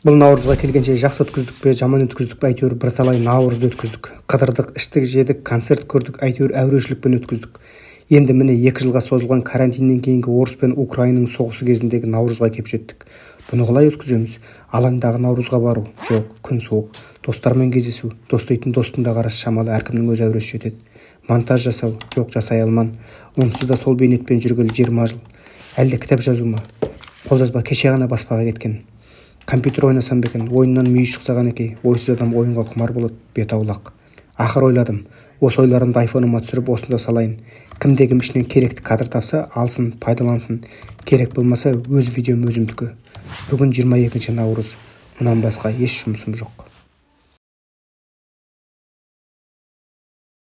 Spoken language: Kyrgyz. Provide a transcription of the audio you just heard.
Бул Наурузга келгенче жакшы өткүздүкпү, жаман өткүздүкпү, әйтеуір бір талай Наурузду өткүздүк. Кыдырдык, иштик жедик, концерт көрдүк, әйтеуір әурешілікпен өткүздүк. Енді міне 2 жылга созулган карантинден кийинки Орус пен Украинанын согушу кезиндеги Наурузга кеп жеттик. Буну калай өткүзөбүз? Алаңдагы Наурузга баруу жок, күн суук. Достор менен кездешүү, дос дейтин достун да карашы шамалы, ар кимдин өз әурөсү жетет. Монтаж жасау жок, жасай алман. Унсуз да сол бейнетпен жүргөлү 20 жыл. Әлде китеп жазуума? Кол жазба кече гана баспага кеткен. Компьютер ойнасам бекен, оюндан мүйү чыкса канекей, ойсуз адам оюнга кумар болот, бет аулак. Акыр ойладым, осы ойларымды айфонума түшүрүп осунда салайын. Кимде ким ишинен керекти кадр тапса, алсын, пайдалансын. Керек болмаса өз видеом өзүмдүкү. Бүгүн 22 Наурuz. Мындан башка эч жумушум жок.